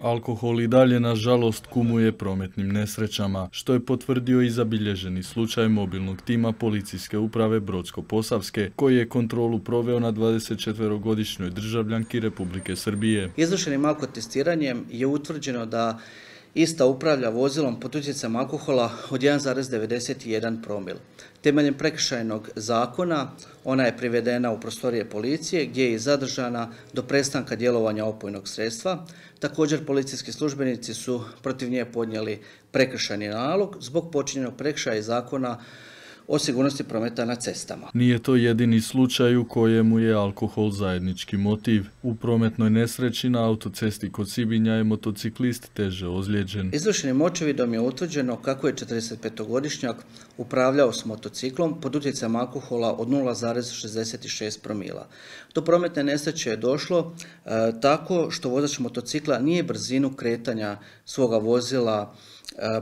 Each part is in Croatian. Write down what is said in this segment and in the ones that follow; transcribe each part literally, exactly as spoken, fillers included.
Alkohol i dalje, nažalost, kumuje prometnim nesrećama, što je potvrdio i zabilježeni slučaj mobilnog tima Policijske uprave Brodsko-Posavske, koji je kontrolu proveo na dvadesetčetverogodišnjoj državljanki Republike Srbije. Izvršenim alkotestiranjem je utvrđeno da ista upravlja vozilom pod utjecajem alkohola od jedan zarez devedeset jedan promil. Temeljem prekršajnog zakona ona je privedena u prostorije policije gdje je zadržana do prestanka djelovanja opojnog sredstva. Također policijski službenici su protiv nje podnijeli prekršajni nalog zbog počinjenog prekršaja iz zakona o sigurnosti prometa na cestama. Nije to jedini slučaj u kojemu je alkohol zajednički motiv. U prometnoj nesreći na autocesti kod Sibinja je motociklist teže ozlijeđen. Izvršenim očevidom je utvrđeno kako je četrdesetpetogodišnjak upravljao s motociklom pod utjecajem alkohola od nula zarez šezdeset šest promila. Do prometne nesreće je došlo e, tako što vozač motocikla nije brzinu kretanja svoga vozila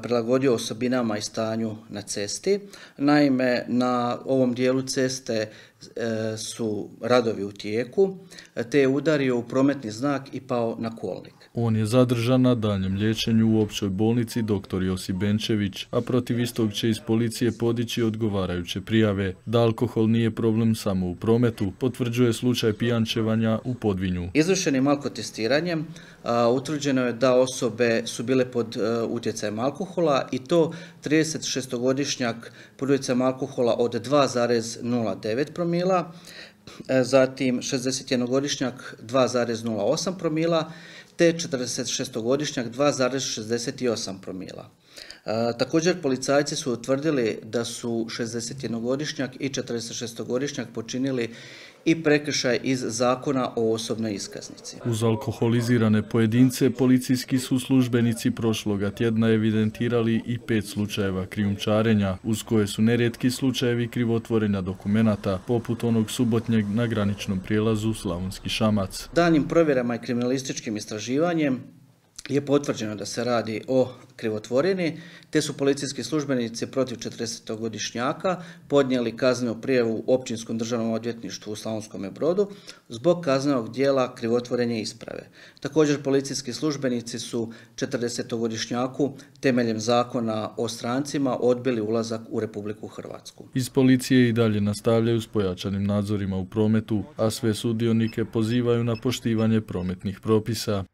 prilagodio osobinama i stanju na cesti. Naime, na ovom dijelu ceste su radovi u tijeku, te je udario u prometni znak i pao na kolnik. On je zadržan na daljem liječenju u općoj bolnici doktor Josip Benčević, a protiv istog će iz policije podići odgovarajuće prijave. Da alkohol nije problem samo u prometu, potvrđuje slučaj pijančevanja u Podvinju. Izvršenim alkotestiranjem a, utvrđeno je da osobe su bile pod a, utjecajem alkohola i to tridesetšestogodišnjak pod utjecajem alkohola od dva zarez nula devet promila, zatim šezdesetjednogodišnjak dva zarez nula osam promila, te četrdesetšestogodišnjak dva zarez šezdeset osam promila. E, također policajci su utvrdili da su šezdesetjednogodišnjak i četrdesetšestogodišnjak počinili i prekršaj iz zakona o osobnoj iskaznici. Uz alkoholizirane pojedince, policijski su službenici prošloga tjedna evidentirali i pet slučajeva krijumčarenja, uz koje su nerijetki slučajevi krivotvorenja dokumenata, poput onog subotnjeg na graničnom prijelazu Slavonski Šamac. Daljnjim provjerama i kriminalističkim istraživanjem je potvrđeno da se radi o krivotvorini, te su policijski službenici protiv četrdesetogodišnjaka podnijeli kaznenu prijavu Općinskom državnom odvjetništvu u Slavonskome Brodu zbog kaznenog djela krivotvorenja isprave. Također policijski službenici su četrdesetogodišnjaku temeljem zakona o strancima odbili ulazak u Republiku Hrvatsku. Iz policije i dalje nastavljaju s pojačanim nadzorima u prometu, a sve sudionike pozivaju na poštivanje prometnih propisa.